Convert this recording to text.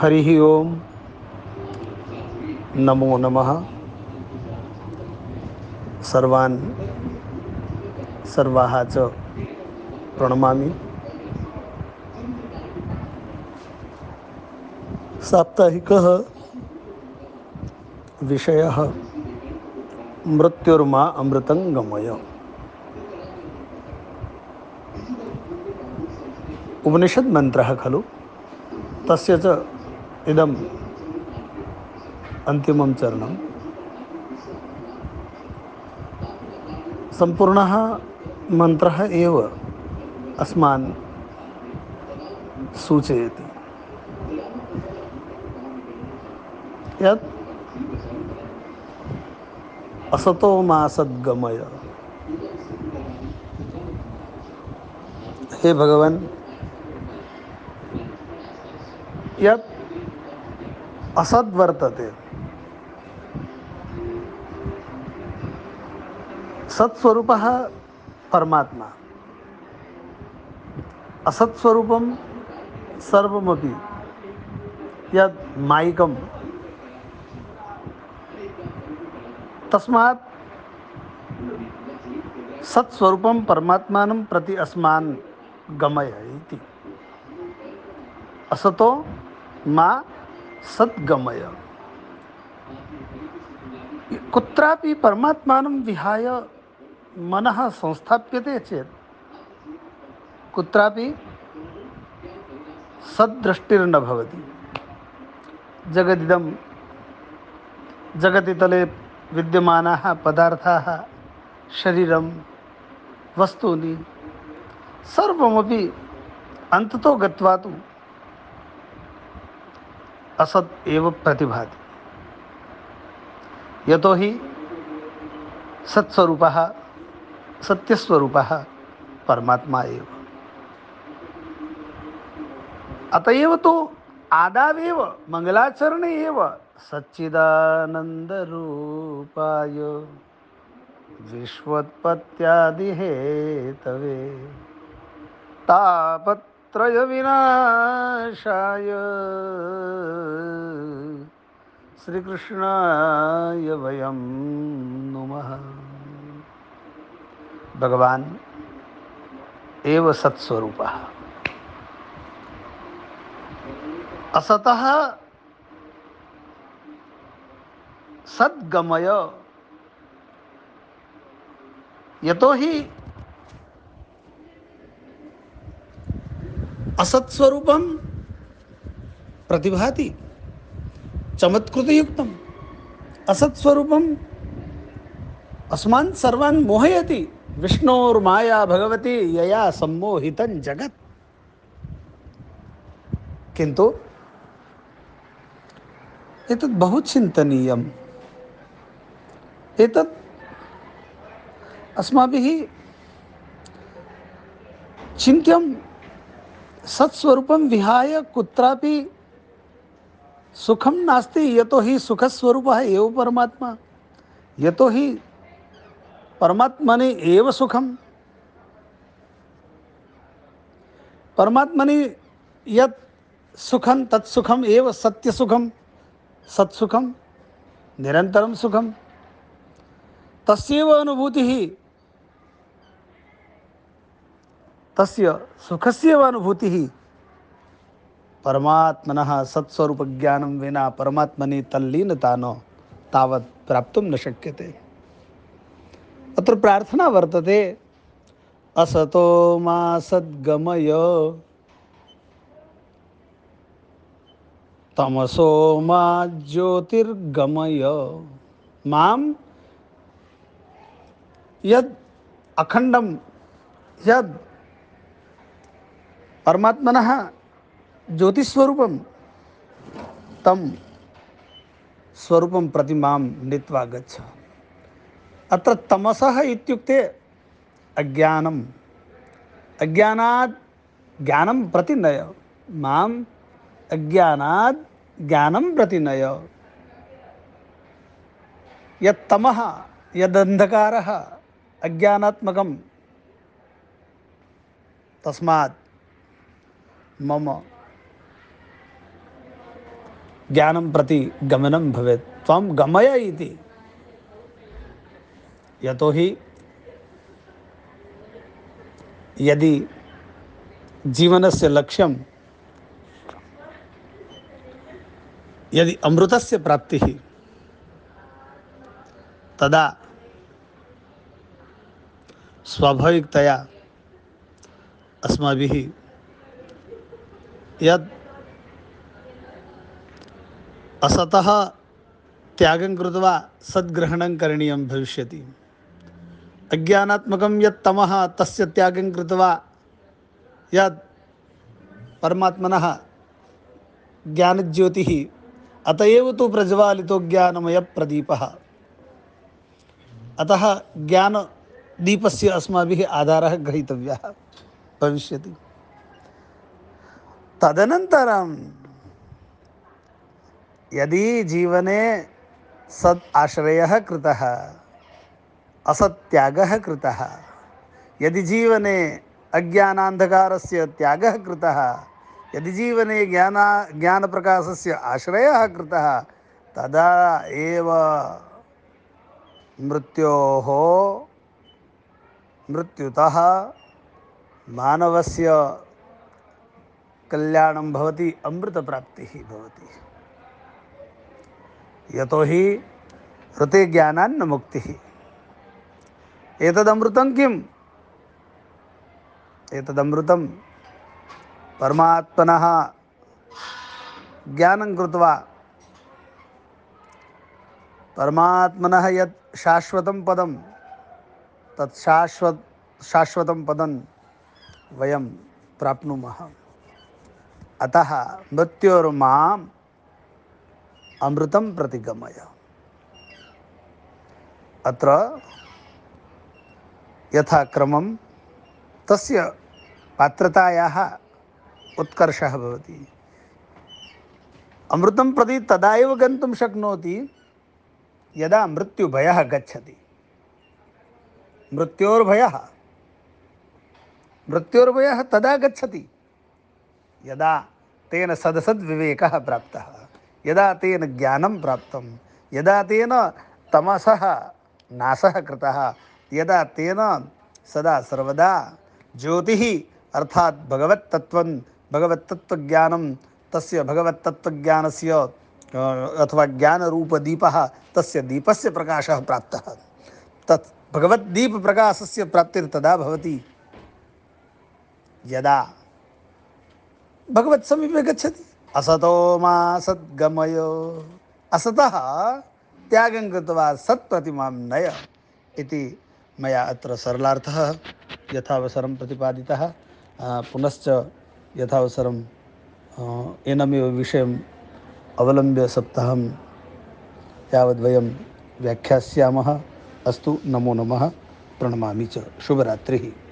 हरिः ओम नमो नमः। सर्वान् सर्वाः च प्रणमामि। साप्ताहिकः विषयः मृत्युर्मा अमृतं गमय। उपनिषद् मन्त्रः खलु, तस्य च इदम् अन्तिमं चरणं। सम्पूर्णः मन्त्रः एव अस्मान् सूचयति यत् असतो मा सद्गमय। हे भगवान्, यत् असद् वर्तते सत्स्वरूपः परमात्मा, असत्स्वरूपं सर्वमपि यद् मायिकं, तस्मात् सत्स्वरूपं परमात्मानं प्रति अस्मान् गमय इति। असतो मा सद्गमय। कुत्रापि परमात्मानं विहाय मनः संस्थाप्यते चेत् कुत्रापि सद्दृष्टिर्न भवति। जगदिदं जगतितले विद्यमानाः पदार्थाः, शरीरं, वस्तूनि सर्वमपि अन्ततो गत्वा तु असत् एव प्रतिभाति। यतोहि सत्स्वरूपः सत्यस्वरूपः परमात्मा एव। अतएव तो आदावेव मंगलाचरणे एव सच्चिदानन्दरूपाय विश्वोत्पत्त्यादिहेतवे तापत्रयविनाशाय श्रीकृष्णाय वयं नुमः। भगवान् एव सत्स्वरूपः। असतः सद्गमय। यतोहि असत्स्वरूपं प्रतिभाति चमत्कृतयुक्तम्। असत्स्वरूपम् अस्मान् सर्वान् मोहयति। विष्णोर्माया भगवती यया सम्मोहितं जगत्। किन्तु एतत् बहु चिन्तनीयम्। एतत् अस्माभिः चिन्त्यं। सत्स्वरूपं विहाय कुत्रापि सुखं नास्ति। यतोहि सुखस्वरूपः एव परमात्मा। यतोहि परमात्मनि एव सुखं। परमात्मनि यत् सुखं तत् सुखम् एव सत्यसुखं, सत्सुखं, निरन्तरं सुखं। तस्यैव अनुभूतिः, तस्य सुखस्यैव अनुभूतिः परमात्मनः सत्स्वरूपज्ञानं विना परमात्मनि तल्लीनता न तावत् प्राप्तुं न शक्यते। अत्र प्रार्थना वर्तते, असतो मा सद्गमय तमसो मा ज्योतिर्गमय। मां यद् अखण्डं, यद् परमात्मनः ज्योतिस्वरूपं, तं स्वरूपं प्रति मां नीत्वा गच्छ। अत्र तमसः इत्युक्ते अज्ञानम्। अज्ञानात् ज्ञानं प्रति नय। माम् अज्ञानात् ज्ञानं प्रति नय। यत् तमः, यदन्धकारः अज्ञानात्मकं, तस्मात् मम ज्ञानं प्रति गमनं भवेत्। त्वं गमय इति। यतोहि यदि जीवनस्य लक्ष्यं यदि अमृतस्य प्राप्तिः, तदा स्वाभाविकतया अस्माभिः यद् असतः त्यागं कृत्वा सद्ग्रहणं करणीयं भविष्यति। अज्ञानात्मकं यत् तमः तस्य त्यागं कृत्वा यत् परमात्मनः ज्ञानज्योतिः, अत एव तु प्रज्वालितो ज्ञानमयप्रदीपः। अतः ज्ञानदीपस्य अस्माभिः आधारः ग्रहीतव्यः भविष्यति। तदनन्तरं यदि जीवने सद् आश्रयः कृतः, असत्यागः कृतः, यदि जीवने अज्ञानान्धकारस्य त्यागः कृतः, यदि जीवने ज्ञानप्रकाशस्य आश्रयः कृतः, तदा एव मृत्युतः मानवस्य कल्याणं भवति, अमृतप्राप्तिः भवति। यतोहि ऋते ज्ञानान्न मुक्तिः। एतदमृतं किम्? एतदमृतं परमात्मनः ज्ञानं कृत्वा परमात्मनः यत् शाश्वतं पदं, तत् शाश्वतं पदं वयं प्राप्नुमः। अतः मृत्योर्माम् अमृतं प्रति गमय। अत्र यथाक्रमं तस्य पात्रतायाः उत्कर्षः भवति। अमृतं प्रति तदा एव गन्तुं शक्नोति यदा मृत्युभयः गच्छति। मृत्योर्भयः तदा गच्छति यदा तेन सदसद्विवेकः प्राप्तः, यदा तेन ज्ञानं प्राप्तं, यदा तेन तमसः नाशः कृतः, यदा तेन सदा सर्वदा ज्योतिः अर्थात् भगवत्तत्त्वज्ञानं, तस्य भगवत्तत्त्वज्ञानस्य अथवा ज्ञानरूपदीपः, तस्य दीपस्य प्रकाशः प्राप्तः। तत् भगवद्दीपप्रकाशस्य प्राप्तिर्तदा भवति यदा भगवत्समीपे गच्छति। असतो मा सद्गमय। असतः त्यागं कृत्वा सत्प्रतिमां नय इति मया अत्र सरलार्थः यथावसरं प्रतिपादितः। पुनश्च यथावसरं एनमेव विषयम् अवलम्ब्य सप्ताहं यावद्वयं व्याख्यास्यामः। अस्तु, नमो नमः, प्रणमामि च। शुभरात्रिः।